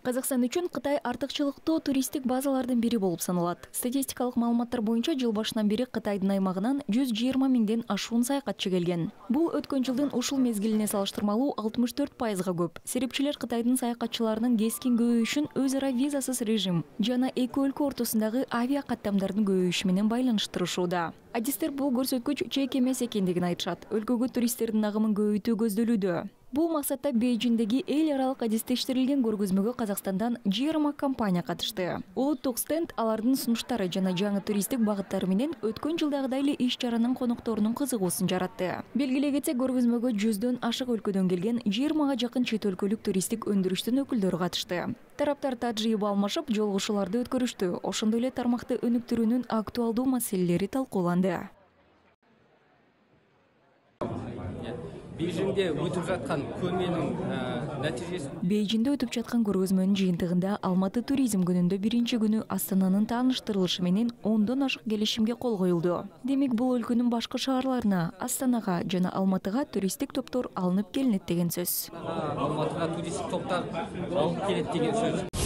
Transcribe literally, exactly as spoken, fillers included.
Казакстан үчүн Кытай артыкчылыктуу туристтик базалардын бири болуп саналат. Статистикалык маалыматтар боюнча жыл башынан бери Кытайдын аймагынан жүз жыйырма миңден ашуун саякатчы келген. Бул өткөн жылдын ушул мезгилине салыштырмалуу алтымыш төрт пайызга көп. Серепчилер Кытайдын саякатчыларынын кескин көбөйүшүн өз ара визасыз режим жана эки өлкө ортосундагы авиа каттамдардын көбөйүшү менен байланыштырышууда. Адистер бул көрсөткүч чек эмес экендигин айтышат. Өлкөгө туристтердин агымын көбөйтүү көздөлүүдө. Бул максатта Бейжиңдеги эл аралык адистештирилген көргөзмөгө Казакстандан жыйырма компания катышты. Улуттук стенд алардын сунуштары жана жаңы туристтик багыттары менен өткөн жылдагыдай эле иш чаранын конокторунун кызыгуусун жаратты. Белгилей кетсек, көргөзмөгө жүздөн ашык өлкөдөн келген жыйырмага жакын чет өлкөлүк туристтик өндүрүштүн өкүлдөрү катышты. Тараптар тажрыйба алмашып, жолугушууларды өткөрүштү. Ошондой эле тармакты өнүктүрүүнүн актуалдуу маселелери талкууланды. Бейжиңде өтүп жаткан көрменин натыйжеси Бейжиңде өтүп жаткан көргөзмөнүн жыйынтыгында Алматы туризм күнүндө биринчи күнү Астананын тааныштырылышы менен ондон ашык келишимге кол коюлду. Демек, бул өлкөнүн башкы шаарларына, Астанага жана Алматыга туристтик топтор алынып келинет деген сөз. Алматыга туристтик топтор алып келет деген сөз.